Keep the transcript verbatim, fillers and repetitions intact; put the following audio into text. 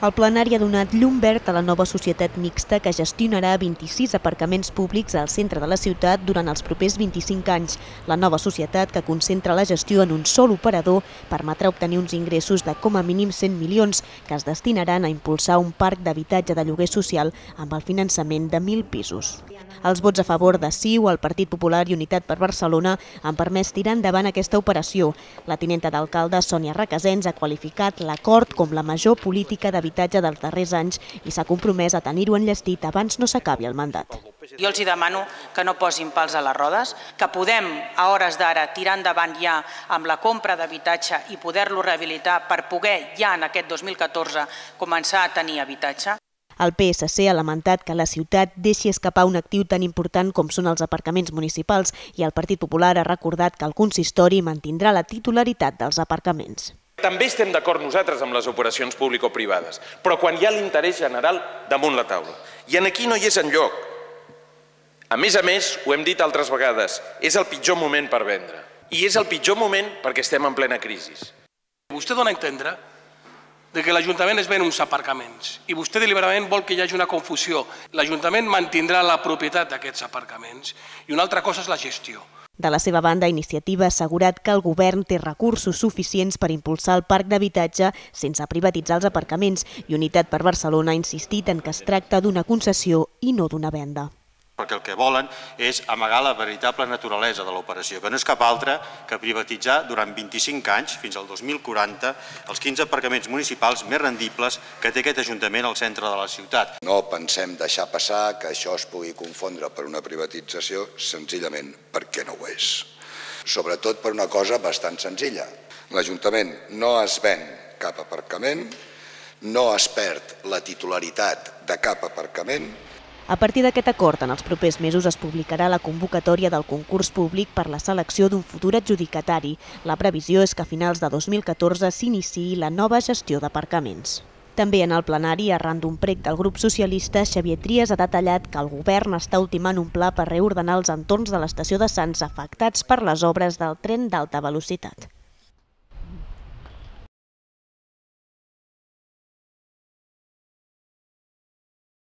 El plenari ha donat llum verd a la nova societat mixta que gestionarà vint-i-sis aparcaments públics al centre de la ciutat durant els propers vint-i-cinc anys. La nova societat, que concentra la gestió en un sol operador, permetrà obtenir uns ingressos de com a mínim cent milions que es destinaran a impulsar un parc d'habitatge de lloguer social amb el finançament de mil pisos. Els vots a favor de C I U, el Partit Popular i Unitat per Barcelona han permès tirar endavant aquesta operació. La tinenta d'alcalde, Sònia Requesens, ha qualificat l'acord com la major política d'habitatge dels darrers anys i s'ha compromès a tenir-ho enllestit abans no s'acabi el mandat. Jo els demano que no posin pals a les rodes, que podem a hores d'ara tirar endavant ja amb la compra d'habitatge i poder-lo rehabilitar per poder ja en aquest dos mil catorze començar a tenir habitatge. El P S C ha lamentat que la ciutat deixi escapar un actiu tan important com són els aparcaments municipals i el Partit Popular ha recordat que el consistori mantindrà la titularitat dels aparcaments. També estem d'acord nosaltres amb les operacions público-privades, però quan hi ha l'interès general damunt la taula. I aquí no hi és enlloc. A més a més, ho hem dit altres vegades, és el pitjor moment per vendre. I és el pitjor moment perquè estem en plena crisi. Vostè dona a entendre que l'Ajuntament es ven uns aparcaments i vostè deliberadament vol que hi hagi una confusió. L'Ajuntament mantindrà la propietat d'aquests aparcaments i una altra cosa és la gestió. De la seva banda, Iniciativa ha assegurat que el govern té recursos suficients per impulsar el parc d'habitatge sense privatitzar els aparcaments i Unitat per Barcelona ha insistit en que es tracta d'una concessió i no d'una venda. Perquè el que volen és amagar la veritable naturalesa de l'operació, que no és cap altra que privatitzar durant vint-i-cinc anys, fins al dos mil quaranta, els quinze aparcaments municipals més rendibles que té aquest Ajuntament al centre de la ciutat. No pensem deixar passar que això es pugui confondre per una privatització senzillament perquè no ho és. Sobretot per una cosa bastant senzilla. L'Ajuntament no es ven cap aparcament, no es perd la titularitat de cap aparcament. A partir d'aquest acord, en els propers mesos es publicarà la convocatòria del concurs públic per la selecció d'un futur adjudicatari. La previsió és que a finals de dos mil catorze s'iniciï la nova gestió d'aparcaments. També en el plenari, arran d'un prec del grup socialista, Xavier Trias ha detallat que el govern està ultimant un pla per reordenar els entorns de l'estació de Sants afectats per les obres del tren d'alta velocitat.